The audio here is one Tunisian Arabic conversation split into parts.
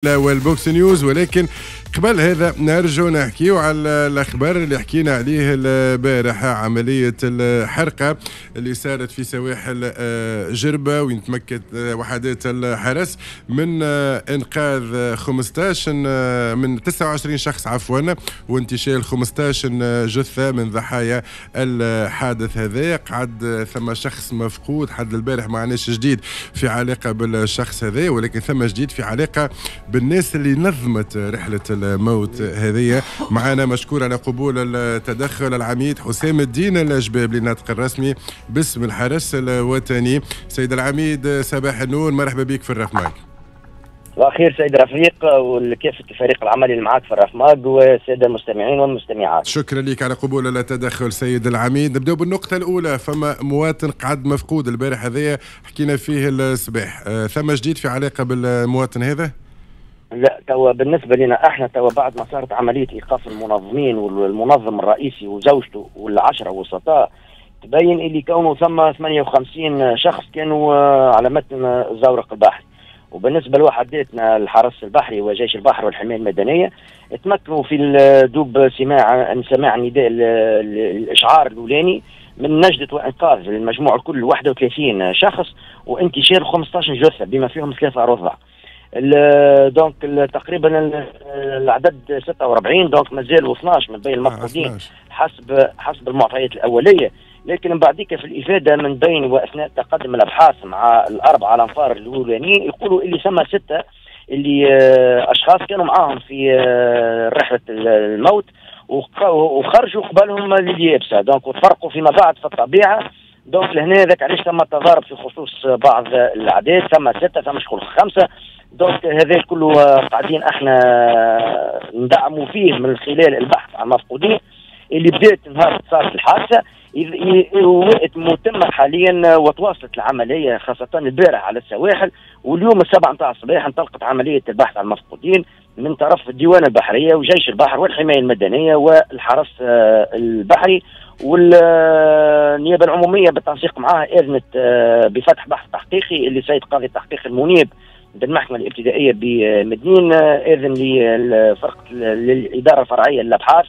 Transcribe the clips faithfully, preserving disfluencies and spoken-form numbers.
والبوكس نيوز. ولكن قبل هذا نرجو نحكيو على الاخبار اللي حكينا عليه البارحة، عملية الحرقة اللي صارت في سواحل جربه وين تمكنت وحدات الحرس من انقاذ خمسطاش من تسعة وعشرين شخص عفوا وانتشال خمسطاش جثة من ضحايا الحادث هذا. قعد ثم شخص مفقود حد البارح، ما عناش جديد في علاقة بالشخص هذا، ولكن ثم جديد في علاقة بالناس اللي نظمت رحلة الموت هذه. معنا مشكور على قبول التدخل العميد حسام الدين الجبابلي الناطق الرسمي باسم الحرس الوطني. سيد العميد صباح النور، مرحبا بك في الرفماج. واخير سيد رفيق وكافة الفريق العملي اللي معاك في الرفماج والسادة المستمعين والمستمعات. شكرا لك على قبول التدخل سيد العميد. نبداو بالنقطة الأولى، فما مواطن قعد مفقود البارح هذايا حكينا فيه الصباح، ثم جديد في علاقة بالمواطن هذا؟ لا، توا بالنسبة لنا احنا توا بعد ما صارت عملية ايقاف المنظمين والمنظم الرئيسي وزوجته والعشرة وسطاء، تبين اللي كانوا ثم ثمانية وخمسين شخص كانوا على متن الزورق البحري. وبالنسبة لوحداتنا الحرس البحري وجيش البحر والحماية المدنية تمكنوا في دوب سماع سماع نداء الاشعار الاولاني من نجدة وانقاذ المجموع الكل واحد وثلاثين شخص وانتشال خمسطاش جثة بما فيهم ثلاثة رضع. donc تقريبا العدد ستة وأربعين، donc مازالوا اثناش من بين المفقودين حسب حسب المعطيات الاولية. لكن من بعديك في الافادة من بين واثناء تقدم الابحاث مع الاربعة الانفار الاولانيين يقولوا اللي ثم ستة اللي اشخاص كانوا معاهم في رحله الموت وخرجوا قبلهم لليابسه، donc وتفرقوا فيما بعد في الطبيعة. donc لهنا ذاك علاش ثم تضارب في خصوص بعض الاعداد، ثم ستة ثم شكون خمسة. donc هذا كله قاعدين احنا ندعموا فيه من خلال البحث عن المفقودين اللي بدات نهار صارت الحادثة ومتمه حاليا، وتواصلت العملية خاصة البارح على السواحل، واليوم السبعة نتاع الصباح انطلقت عملية البحث عن المفقودين من طرف الديوان البحرية وجيش البحر والحماية المدنية والحرس البحري والنيابه العمومية بالتنسيق معها اذنت بفتح بحث تحقيقي اللي سيد قاضي التحقيق المنيب بالمحكمه الابتدائية بمدنين اذن للفرقة للادارة الفرعية للابحاث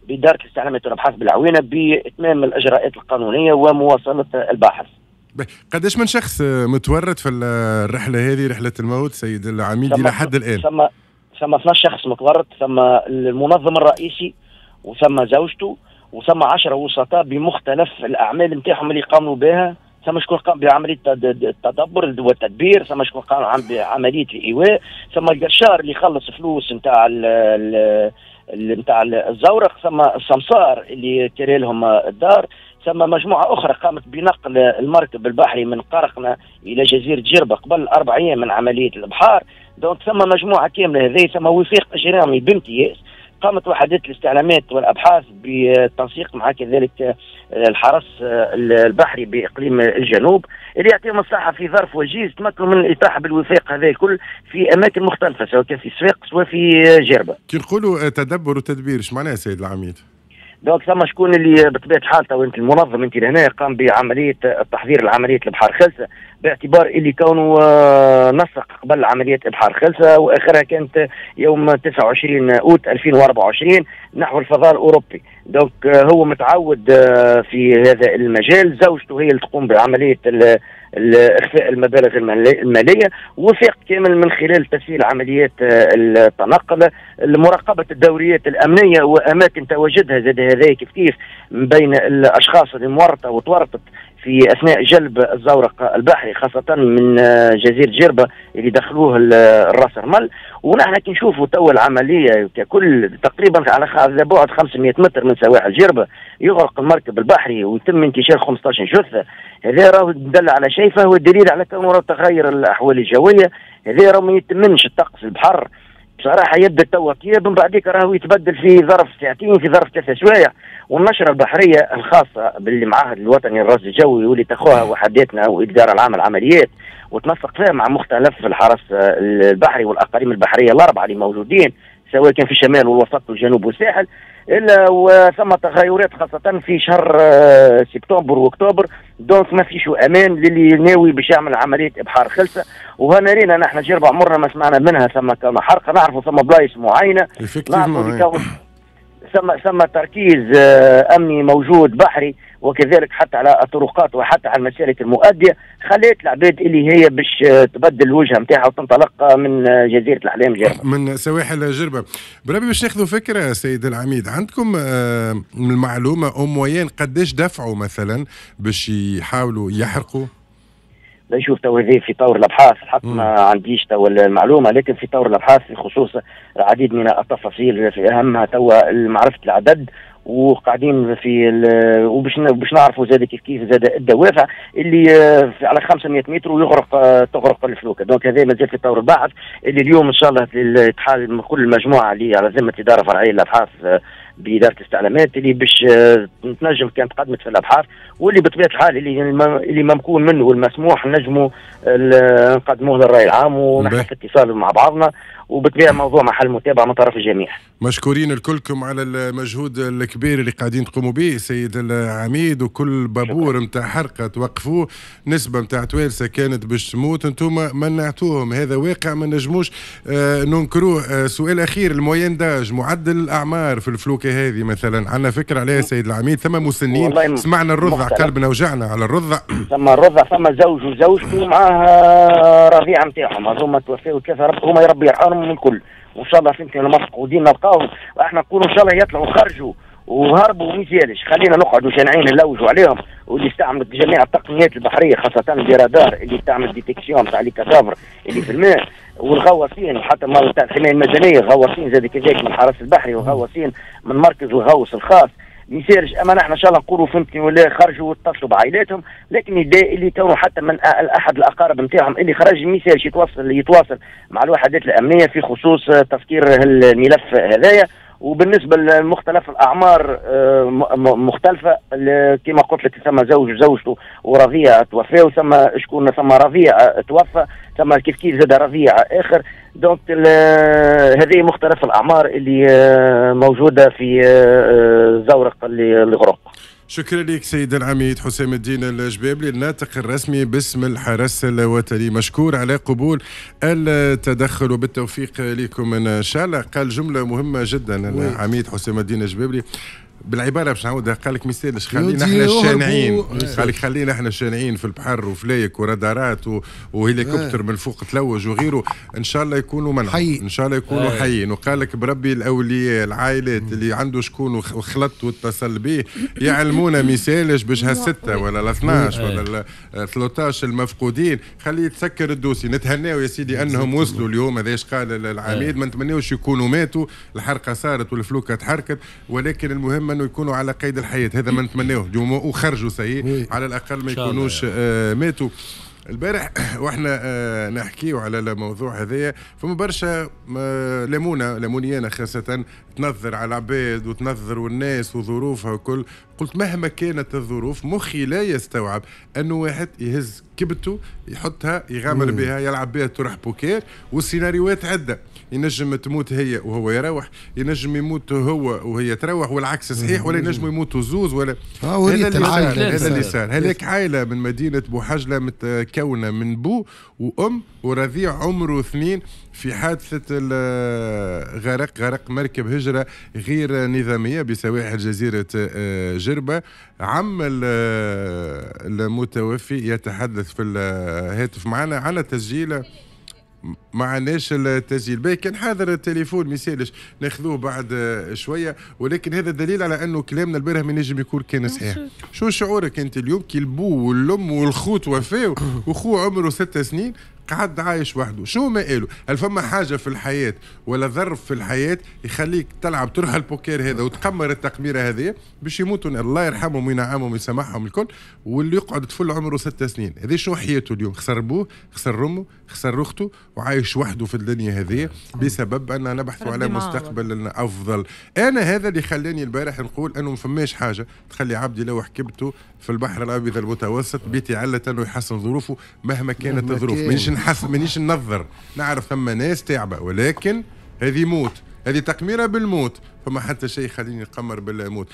بادارة الاستعلامات والابحاث بالعوينه باتمام الاجراءات القانونية ومواصله البحث. قداش من شخص متورط في الرحلة هذه رحله الموت سيد العميد الى حد الان؟ ثم ثم اثناش شخص متورط، ثم المنظم الرئيسي وثم زوجته وثم عشرة وسطاء بمختلف الاعمال نتاعهم اللي قاموا بها. ثم شكون قام بعملية التدبر والتدبير، ثم شكون قام بعملية الايواء، ثم القشار اللي خلص فلوس نتاع نتاع الزورق، ثم السمسار اللي كري لهم الدار، ثم مجموعة اخرى قامت بنقل المركب البحري من قرقنه الى جزيرة جربه قبل اربع ايام من عملية الابحار. donc ثم مجموعة كاملة هذه، ثم وثيق اجرامي بامتياز قامت وحدات الاستعلامات والابحاث بالتنسيق مع كذلك الحرس البحري باقليم الجنوب اللي يعطيهم الصحة في ظرف وجيز تمكنوا من الاطاحه بالوثائق هذا الكل في اماكن مختلفة سواء كان في صفاقس سواء في جربه. كي نقولوا تدبر وتدبير ايش معناها سيد العميد؟ donc ثم شكون اللي بطبيعة الحال تو انت المنظم انت لهنا قام بعملية التحضير لعملية الابحار خلسه باعتبار اللي كونه نسق قبل عملية ابحار خلسه واخرها كانت يوم تسعة وعشرين اوت ألفين وأربعة وعشرين نحو الفضاء الاوروبي. donc هو متعود في هذا المجال، زوجته هي اللي تقوم بعملية اخفاء المبالغ المالية، وثيق كامل من خلال تسهيل عمليات التنقل، مراقبة الدوريات الامنية واماكن تواجدها زاد هذا كيف كيف من بين الاشخاص اللي مورطه وتورطت في اثناء جلب الزورق البحري خاصة من جزيرة جربه اللي دخلوه الراس رمل. ونحن كي نشوفوا تو العملية ككل تقريبا على بعد خمسمئة متر من سواحل جربه يغرق المركب البحري ويتم انتشال خمسطاش جثة، هذا راهو دل على شيء فهو دليل على كونه راهو تغير الاحوال الجوية، هذا راهو ما يتمنش الطقس البحر بصراحة يبدا توا طيب من بعديك راهو يتبدل في ظرف ساعتين في ظرف ثلاثة سوايع. والنشره البحرية الخاصة بالمعهد الوطني للرصد الجوي واللي تاخوها وحداتنا والادارة العامة للعمليات وتنسق فيها مع مختلف الحرس البحري والاقاليم البحرية الاربعة اللي موجودين سواء كان في الشمال والوسط والجنوب والساحل، الا وثم تغيرات خاصة في شهر سبتمبر واكتوبر، donc ما فيش امان للي ناوي باش يعمل عملية ابحار خلسه. وهنا رينا نحن جربة عمرنا ما سمعنا منها ثم كما حرقه، نعرفوا ثم بلايص معينة، نعرفوا ثم ثم تركيز امني موجود بحري وكذلك حتى على الطرقات وحتى على المسالك المؤدية، خلات العباد اللي هي باش تبدل الوجهة نتاعها وتنطلق من جزيرة الاحلام جربه، من سواحل جربه. بربي باش ناخذوا فكرة سيد العميد، عندكم المعلومة en moyenne قداش دفعوا مثلا باش يحاولوا يحرقوا؟ لا نشوف تو هذه في طور الابحاث، الحق ما عنديش تو المعلومة، لكن في طور الابحاث في خصوص العديد من التفاصيل، في اهمها تو معرفة العدد، وقاعدين في وباش باش نعرفوا زاد كيف كيف زاد الدوافع اللي على خمسمية متر ويغرق تغرق الفلوكه. donc هذا مازال في طور البحث اللي اليوم ان شاء الله تحال كل المجموعة اللي على ذمه ادارة فرعية للابحاث بادارة الاستعلامات اللي باش تنجم كانت قدمت في الابحاث، واللي بطبيعة الحال اللي اللي ممكون منه والمسموح نجموا نقدموه للراي العام، ونحن في اتصال مع بعضنا، وبالطبيعه موضوع محل متابعه من طرف الجميع. مشكورين الكلكم على المجهود الكبير اللي قاعدين تقوموا به سيد العميد، وكل بابور نتاع حرقه توقفوه، نسبه نتاع توالسه كانت باش تموت انتم منعتوهم، هذا واقع ما نجموش آه ننكروه. آه سؤال اخير، ال moyenne d'âge معدل الاعمار في الفلوكه هذه مثلا عندنا فكرة عليها سيد العميد؟ ثم مسنين، سمعنا الرضع قلبنا وجعنا على الرضع. ثم الرضع، ثم زوج وزوجته معاه رضيعة نتاعهم، هذوما توفاو ثلاثة، هما ربي يرحمهم من الكل، وان شاء الله فهمتني المفقودين نلقاهم، واحنا نقولوا ان شاء الله يطلعوا خرجوا وهربوا وما يزالش، خلينا نقعدوا شانعين نلوجوا عليهم، واللي استعملت جميع التقنيات البحرية خاصة الرادار اللي تعمل détection تاع les cadavres اللي في الماء، والغواصين وحتى تاع الحماية المدنية، غواصين زاد كذلك من الحرس البحري وغواصين من مركز الغوص الخاص، ما يصيرش. اما نحن ان شاء الله نقولوا فهمتني ولا خرجوا واتصلوا بعائلاتهم، لكن اللي كانوا حتى من احد الاقارب نتاعهم اللي خرج ما يصيرش يتواصل يتواصل مع الوحدات الامنية في خصوص تسكير الملف هذايا. وبالنسبة لمختلف الاعمار مختلفة، كما قلت لك ثم زوج وزوجته ورضيع توفاو، ثم شكون ثم رضيع توفى، ثم كيف كيف زاد رضيع اخر. donc هذه مختلف الاعمار اللي موجودة في زورق اللي غرق. شكرا لك سيد العميد حسام الدين الجبابلي الناطق الرسمي باسم الحرس الوطني، مشكور على قبول التدخل وبالتوفيق لكم ان شاء الله. قال جملة مهمة جدا العميد حسام الدين الجبابلي بالعباره باش نعاودها، قال لك ما يسالش خلينا احنا الشانعين، قال لك خلينا احنا الشانعين في البحر وفلايك ورادارات وهليكوبتر من فوق تلوج وغيره، ان شاء الله يكونوا منع، ان شاء الله يكونوا حيين. وقال لك بربي الاولياء العائلات اللي عنده شكون وخلط واتصل به يعلمونا ما يسالش باش هالسته ولا ال اثناش ولا ال ثلاثطاش المفقودين خليه يتسكر ال dossier، نتهناو يا سيدي انهم وصلوا اليوم. هذا ايش قال العميد، ما نتمناوش يكونوا ماتوا، الحرقة صارت والفلوكه تحركت، ولكن المهم انه يكونوا على قيد الحياة، هذا ما نتمناه اليوم، وخرجوا سيء على الاقل ما يكونوش آه ماتوا. البارح واحنا آه نحكيو على الموضوع هذايا، فما برشا آه لمونه لمونيانا خاصة تنظر على العباد وتنظر والناس وظروفها وكل، قلت مهما كانت الظروف مخي لا يستوعب انه واحد يهز كبته يحطها يغامر بها يلعب بها تروح بوكير، والسيناريوهات عده، ينجم تموت هي وهو يروح، ينجم يموت هو وهي تروح والعكس صحيح، ولا ينجم يموتوا زوز ولا آه هذا اللي صار، هذا اللي صار. هذيك عائلة من مدينة بوحجله متكونه من بو وام ورضيع عمره اثنين في حادثه غرق غرق مركب هجره غير نظامية بسواحل جزيرة جربه. عم المتوفي يتحدث في الهاتف معنا على تسجيل، ما عناش التسجيل باهي، كان حاضر التليفون ما يسالش ناخذوه بعد شوية، ولكن هذا دليل على انه كلامنا البارح ما نجم يكون كان صحيح. شو شعورك انت اليوم كي البو والام والخوت وفاو وخو عمره ست سنين قعد عايش وحده، شو ما قالوا؟ هل فما حاجة في الحياة ولا ظرف في الحياة يخليك تلعب تروح البوكير هذا وتقمر التقميره هذه باش يموتوا الله يرحمهم وينعمهم ويسامحهم الكل، واللي يقعد طفل عمره ست سنين هذه شو حياته اليوم؟ خسر بوه، خسر امه، خسر اخته، وعايش وحده في الدنيا هذه بسبب ان نبحث على مستقبل افضل. انا هذا اللي خلاني البارح نقول انه ما فماش حاجة تخلي عبد يلوح كبته في البحر الابيض المتوسط بيتي علة انه يحسن ظروفه مهما كانت الظروف. مانيش نحس، مانيش ننظر، نعرف ثم ناس تعبه، ولكن هذه موت، هذه تقميره بالموت، فما حتى شيء يخليني نقمر بالموت.